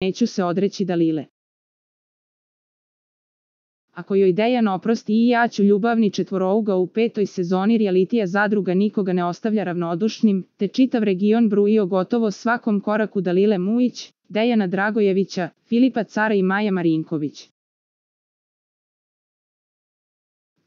neću se odreći Dalile. Ako joj Dejan oprosti i ja ću ljubavni četvorouga u 5. sezoni realitija Zadruga nikoga ne ostavlja ravnodušnim, te čitav region bruji o gotovo svakom koraku Dalile Mujić, Dejana Dragojevića, Filipa Cara i Maje Marinković.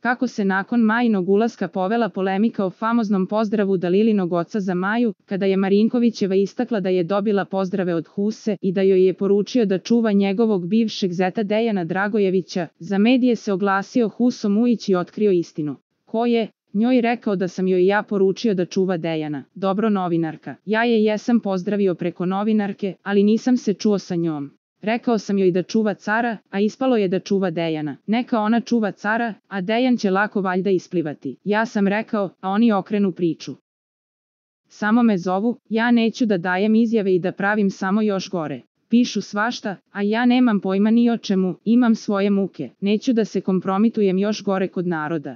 Kako se nakon Majinog ulaska povela polemika o famoznom pozdravu Dalilinog oca za Maju, kada je Marinkovićeva istakla da je dobila pozdrave od Huse i da joj je poručio da čuva njegovog bivšeg zeta Dejana Dragojevića, za medije se oglasio Huso Mujić i otkrio istinu. Ko je njoj rekao da sam joj ja poručio da čuva Dejana? Dobro, novinarka. Ja je jesam pozdravio preko novinarke, ali nisam se čuo sa njom. Rekao sam joj da čuva Cara, a ispalo je da čuva Dejana. Neka ona čuva Cara, a Dejan će lako valjda isplivati. Ja sam rekao, a oni okrenu priču. Samo me zovu, ja neću da dajem izjave i da pravim samo još gore. Pišu svašta, a ja nemam pojma ni o čemu, imam svoje muke. Neću da se kompromitujem još gore kod naroda.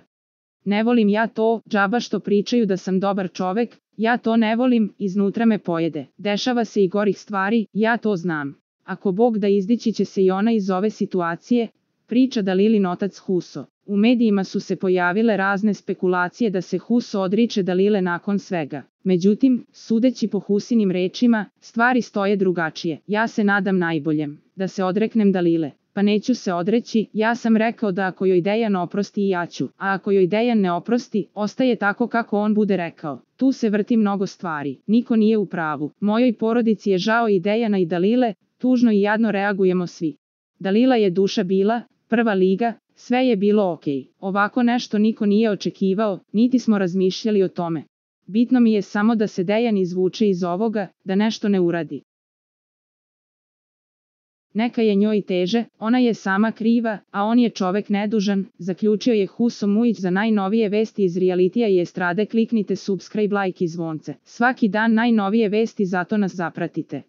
Ne volim ja to, džaba što pričaju da sam dobar čovek, ja to ne volim, iznutra me pojede. Dešava se i gorih stvari, ja to znam. Ako Bog da izdići će se i ona iz ove situacije, priča Dalilin otac Huso. U medijima su se pojavile razne spekulacije da se Huso odriče Dalile nakon svega. Međutim, sudeći po Husinim rečima, stvari stoje drugačije. Ja se nadam najboljem, da se odreknem Dalile. Pa neću se odreći, ja sam rekao da ako joj Dejan oprosti i ja ću, a ako joj Dejan ne oprosti, ostaje tako kako on bude rekao. Tu se vrti mnogo stvari, niko nije u pravu. Mojoj porodici je žao i Dejana i Dalile, tužno i jadno reagujemo svi. Dalila je duša bila, prva liga, sve je bilo okej. Ovako nešto niko nije očekivao, niti smo razmišljali o tome. Bitno mi je samo da se Dejan izvuče iz ovoga, da nešto ne uradi. Neka je njoj teže, ona je sama kriva, a on je čovek nedužan, zaključio je Huso Mujić. Za najnovije vesti iz realitija i estrade kliknite subscribe, like i zvonce. Svaki dan najnovije vesti, zato nas zapratite.